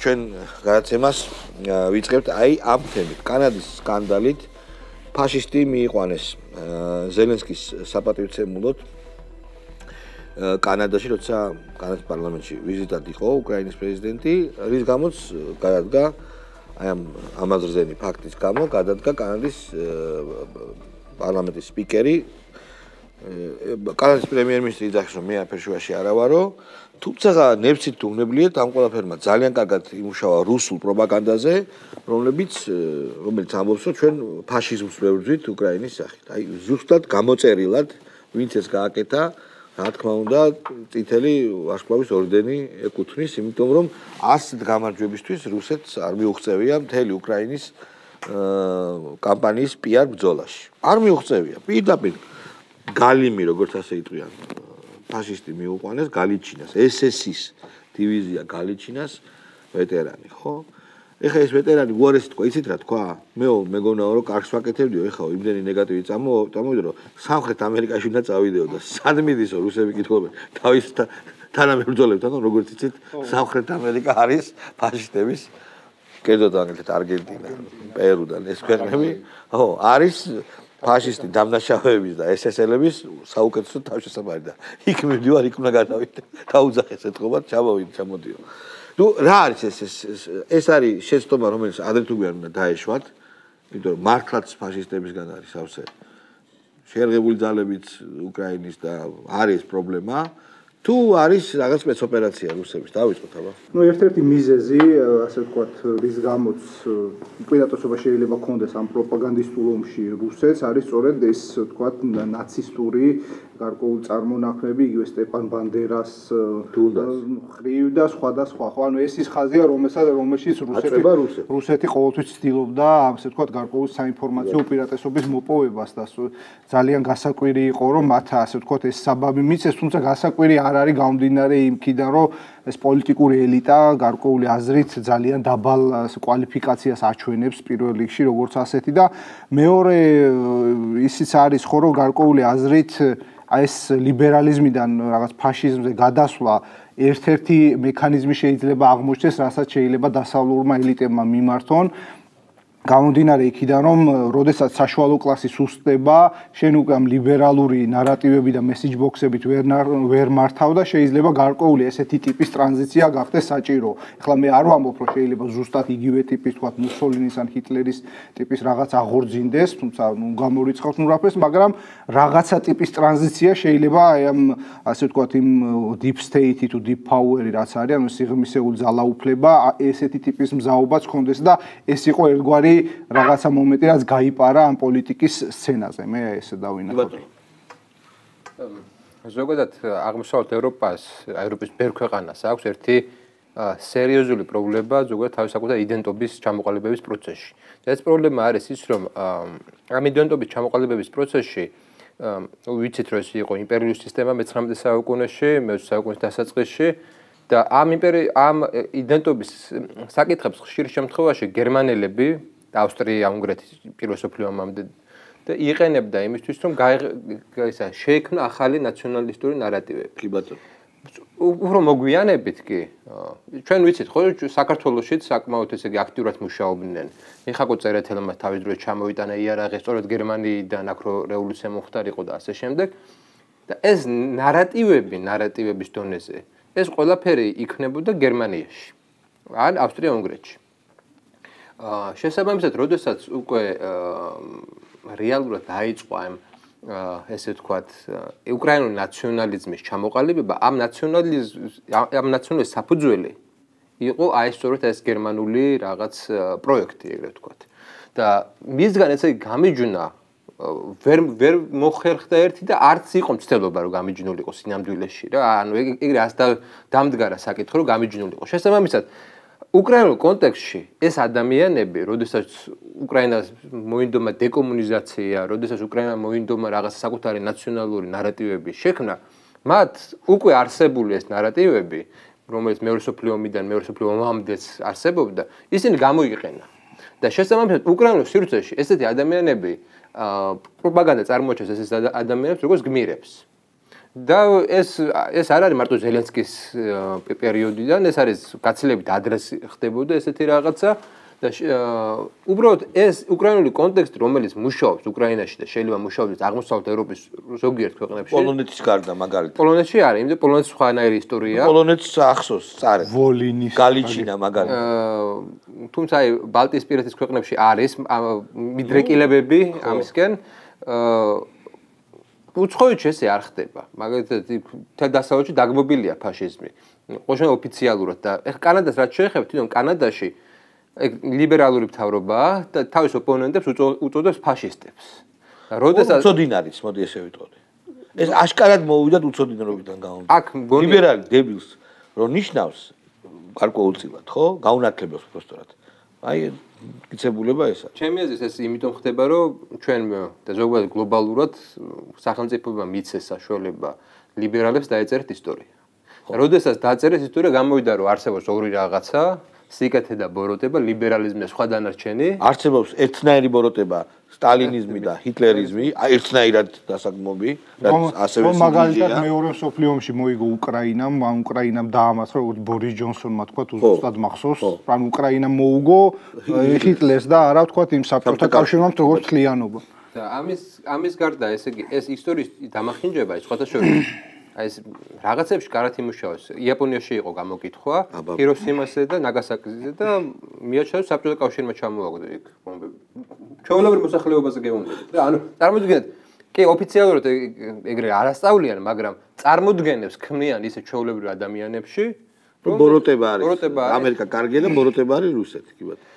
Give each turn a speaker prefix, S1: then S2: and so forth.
S1: ჩვენ გადაცემას ვიწყებთ აი ამ თემით. კანადის სკანდალით ფაშისტი მიიყვანეს ზელენსკის საპატივცემულოდ კანადაში, როცა კანადის პარლამენტში ვიზიტად იყო უკრაინის პრეზიდენტი, რის გამოც გადადგა აი ამ ამაზრზენი ფაქტის გამო გადადგა კანადის პარლამენტის სპიკერი კანადის პრემიერ-მინისტრი იძახის, რომ მე აფერშუაში არა ვარო, თუმცა ნებცით თუ უნებლიეთ ამ ყველაფერმა ძალიან კარგად იმუშავა რუსულ პროპაგანდაზე, რომელიც ამბობს, რომ ჩვენ ფაშიზმს ვებრძვით უკრაინის სახით. აი ზუსტად გამოწერილად ვინც ეს გააკეთა, რა თქმა უნდა, წითელი ვარსკვლავის ორდენი ეკუთვნის, იმიტომ რომ ასეთ გამარჯვებისთვის რუსეთს არ მიუღწევია მთელი უკრაინის კამპანიის PR ბრძოლაში. არ მიუღწევია. პირდაპირ გალიმი, როგორც ასე იტყვიან, ფაშისტი მიუყვანეს გალიჩინას, SS-ის დივიზია გალიჩინას ვეტერანი, ხო? ეხლა ეს ვეტერანი უარესი თქვა, იცით რა თქვა? მეგონა რომ კარგს ვაკეთებდიო, ეხლა იმდენი ნეგატივი წამოვიდა, რომ სამხრეთ ამერიკაში უნდა წავიდეო და სად მიდისო რუსები კითხულობენ თავის თანამებრძოლებთან, როგორც იცით, სამხრეთ ამერიკა არის ფაშისტების კერძოდ აგეთ არგენტინა, პერუ და ეს ქვეყნები, ხო, არის ფაშისტი დამნაშავეების და SS-ელების საუკეთესო თავშესაფარი და იქ მივდივარ, იქ უნდა გადავიდე. დაუძახეს ეთყობა, ჩამოდიო. ნუ რა არის ეს არის შეცდომა, რომელიც ადრე თუ გვიან უნდა დაეშვათ, იმიტომ რომ მართლაც ფაშისტებისგან არის სავსე შეერღებული ძალებიც უკრაინის და არის პრობლემა. თუ არის რაღაც სპეცოპერაცია რუსების, დავიწყოთ აბა.
S2: ნუ ერთ-ერთი მიზეზი, ასე ვთქვათ, რის გამოც უპირატესობა შეიძლება ქონდეს ამ პროპაგანდისტულ ომში რუსეთს, არის სწორედ ეს, ვთქვათ, ნაცისტური გარკვეული წარმონაქმნები, იგივე სტეპან ბანდერას ხრივ და სხვა და სხვა. ხო, ანუ ეს ის ხაზია, რომელშიც რუსეთი ყოველთვის ცდილობდა, ასე ვთქვათ, გარკვეული საინფორმაციო უპირატესობის მოპოვებას და ძალიან გასაკვირი იყო, რომ მათ, ასე ვთქვათ, ეს საბაბი მიცეს, თუმცა გასაკვირი არ არის გამომდინარე იმქიდან, რომ ეს პოლიტიკური ელიტა გარკვეული აზრით ძალიან დაბალ კვალიფიკაციას აჩვენებს პირველ რიგში, როგორც ასეთი და მეორე ისიც არის ხო, რომ გარკვეული აზრით ეს ლიბერალიზმიდან რაღაც ფაშიზმზე გადასვლა ერთ-ერთი მექანიზმი შეიძლება აღმოჩნდეს, რასაც შეიძლება დასავლურმა ელიტებმა მიმართონ. გამომდინარე იქიდან, რომ როდესაც საშუალო კლასი სუსტდება, შენ უკვე ამ ლიბერალური ნარატივები და მესეჯ ბოქსებით ვერ მართავ და შეიძლება გარკვეული ესეთი ტიპის ტრანზიცია გახდეს საჭირო. ეხლა მე არ ვამბობ, რომ შეიძლება ზუსტად იგივე ტიპის, თქვათ, მუსოლინის ან ჰიტლერის ტიპის რაღაც აღორძინდეს, თუმცა გამორიცხავს ნურაფეს, მაგრამ რაღაცა ტიპის ტრანზიცია შეიძლება აი ამ, ასე ვთქვათ, იმ deep state-ი თუ deep power-ი რაც არის, ანუ სიღრმისეული ძალაუფლება, ესეთი ტიპის მზაობაც ქონდეს და ეს იყო ერთგვარი რაღაცა მომენტი, რაც გაიპარა ამ პოლიტიკის სცენაზე. მე ესე დავინახავ.
S3: ზოგადად აღმოსავლეთ ევროპის ბევრ ქვეყანას აქვს ერთი სერიოზული პრობლემა ზოგადად თავისაკუთარ იდენტობის ჩამოყალიბების პროცესში. ეს პრობლემა არის ის, რომ ამ იდენტობის ჩამოყალიბების პროცესში ვიცით, რომ ეს იყო იმპერიული სისტემა მე-19 საუკუნეში, მე-20 საუკუნის დასაწყისში და ამ იდენტობის საკითხებს ხშირ შემთხვევაში გერმანელები და ავსტრია-უნგრეთის პირველ სოფლიო ომამდე და იყენებდა იმისთვის, რომ შეექმნა ახალი ნაციონალისტური ნარატივები.
S1: კი ბატონო.
S3: უფრო მოგვიანებით კი, ჩვენ ვიცით, ხო, საქართველოშიც საკმაოდ ესე იგი აქტიურად მუშაობდნენ. მიხაკო წერეთელმა თავის დროს ჩამოიტანა იარაღი, სწორედ გერმანიიდან აქ რო რევოლუცია მომხდარიყო და ასე შემდეგ. და ეს ნარატივების დონეზე ეს ყველაფერი იქნებოდა გერმანიაში ან ავსტრია-უნგრეთში. შესაბამისად, როდესაც უკვე რეალურად დაიწყო ესე ვთქვათ, უკრაინული ნაციონალიზმის ჩამოყალიბება, ამ ნაციონალიზმის საფუძველი იყო აი სწორედ ეს გერმანული რაღაც პროექტი, ეგრეთ ვთქვათ. და მისგან ესე გამიჯვნა ვერ მოხერხდა ერთი და არც იყო მცდელობა რომ გამიჯნულიყო სინამდვილეში რა. ანუ ეგრე ას დამდგარა საკითხი რომ გამიჯნულიყო. შესაბამისად, უკრაინულ კონტექსტში ეს ადამიანები, როდესაც უკრაინას მოინდომა დეკომუნიზაცია, როდესაც უკრაინა მოინდომა რაღაც საკუთარი ნაციონალური ნარატივების შექმნა, მათ უკვე არსებული ეს ნარატივები, რომელიც მეორე სოფლიო ომიდან მეორე სოფლიო ომამდეც არსებობდა, ისინი გამოიყენა. და შესაბამისად, უკრაინულ სივრცეში ესეთი ადამიანები პროპაგანდა წარმოაჩენს ესეთ ადამიანებს, როგორც გმირებს. და ეს არ არის მარტო ზელენსკის პერიოდიდან, ეს არის გაცილებით ადრე ხდებოდა ესეთი რაღაცა და უბრალოდ ეს უკრაინული კონტექსტი, რომელიც მუშაობს უკრაინაში და შეიძლება მუშაობს აღმოსავლეთ ევროპის ზოგიერთ ქვეყნებში.
S1: პოლონეთის გარდა მაგალითად.
S3: პოლონეთში არის, იმიტომ პოლონეთს სხვანაირი ისტორია.
S1: პოლონეთს ახსოვს წარე.
S2: ვოლინის
S1: გალიჩინა მაგალითად.
S3: თუმცა აი ბალტიისპირეთის ქვეყნებში არის მიდრეკილებები ამისკენ. უცხოეთში ესე არ ხდება. მაგალითად თელ დასავლეთში დაგმობილია ფაშიზმი. ყოველშემთხვევაში ოფიციალურად და ეხლა კანადას რაც შეეხება, თვითონ კანადაში ლიბერალური მთავრობაა და თავის ოპონენტებს უწოდებს ფაშისტებს. და როდესაც
S1: უცოდინ არის, მოდი ესე ვიტყოდი. ეს აშკარად მოვიდათ უცოდინრობიდან გამომდინარე.
S3: აქ მგონი
S1: ლიბერალი დებილს რომ ნიშნავს გარკვეულწილად, ხო? გაუნათლებს უბრალოდ. აი გიცებულება ეს არის.
S3: ჩემი აზრით ეს იმიტომ ხდება, რომ ჩვენ და ზოგადად გლობალურად სახელმწიფოებმა მიცეს საშუალება ლიბერალებს დაეწერეთ ისტორია. და როდესაც დაწერეს ისტორია, გამოვიდა რომ არსებობს ორი რაღაცა, სიკეთე და ბოროტება, ლიბერალიზმი და სხვა დანარჩენი.
S1: არსებობს ერთნაირი ბოროტება, სტალინიზმი და ჰიტლერიზმი, ერთნაირად დასაგმობი, რაც ასევე
S2: მაგალითად მეორე მსოფლიო ომში მოიგო უკრაინამ, ან უკრაინამ დაამარცხა, როგორც ბორის ჯონსონმა თქვა, უბრალოდ მახსოვს, ან უკრაინამ მოუგო ჰიტლერს და არა თქვა იმ საბჭოთა კავშირმა როგორც თლიანობა.
S3: და ამის გარდა ესე იგი ეს ისტორიის დამახინჯება ის სხვათა შორის აი ეს რაღაცებში კარათ იმუშავეს. იაპონიაში იყო გამოკითხვა ჰიროსიმასზე და ნაგასაკიზე და მიაჩნდა საბჭოთა კავშირმა ჩამოაგდო იქ ბომბები. ჩვეულებრივ მოსახლეობაზე გეუბნებით. და ანუ წარმოიდგინეთ, კი ოფიციალურად ეგრე არასწავლიან, მაგრამ წარმოდგენებს ქმნიან ისე ჩვეულებრივ ადამიანებში,
S1: ბოროტება არის. ამერიკა კარგია და ბოროტება არის რუსეთი, კი ბატონო.